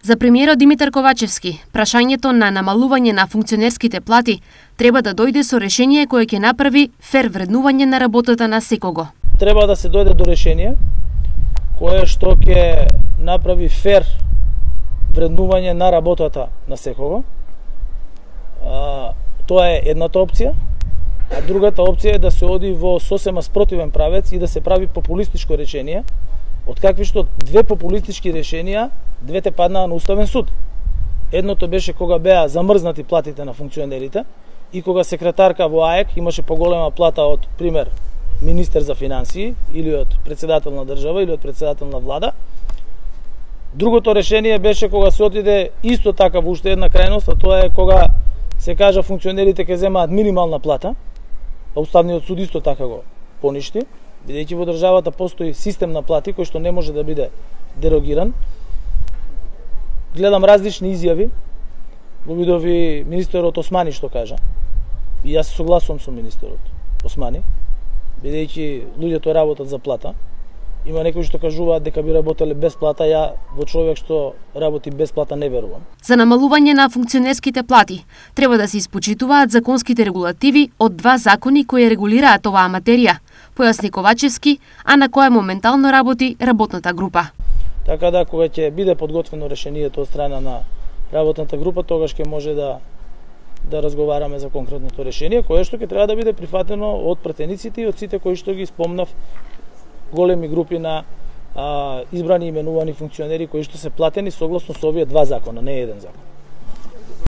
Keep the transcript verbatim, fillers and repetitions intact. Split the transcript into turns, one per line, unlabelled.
За премиерот Димитар Ковачевски, прашањето на намалување на функционерските плати треба да дојде со решение кое ќе направи фер вреднување на работата на секого.
Треба да се дојде до решение кое што ќе направи фер вреднување на работата на секого. А, тоа е едната опција, а другата опција е да се оди во сосема спротивен правец и да се прави популистичко решение, од какви што две популистички решенија, двете паднаа на Уставен суд. Едното беше кога беа замрзнати платите на функционерите и кога секретарка во АЕК имаше поголема плата од, пример, министер за финансии или од председател на држава или од председател на влада. Другото решение беше кога се отиде исто така во уште една крајност, а тоа е кога се кажа функционерите ќе земаат минимална плата, а Уставниот суд исто така го поништи, бидејќи во државата постои систем на плати кој што не може да биде дерогиран. Гледам различни изјави, го видови министерот Османи што кажа, и јас се согласувам со министерот Османи, бидејќи луѓето работат за плата. Има некои што кажуваат дека би работеле без плата, ја во човек што работи без плата не верувам.
За намалување на функционерските плати треба да се испочитуваат законските регулативи од два закони кои регулираат оваа материја, појасни Ковачевски, а на која моментално работи работната група.
Така да, кога ќе биде подготвено решението од страна на работната група, тогаш ќе може да да разговараме за конкретното решение, кое што ќе треба да биде прифатено од пратениците и од сите кои што ги спомнав, големи групи на а, избрани и именувани функционери кои што се платени согласно со овие два закона, не еден закон.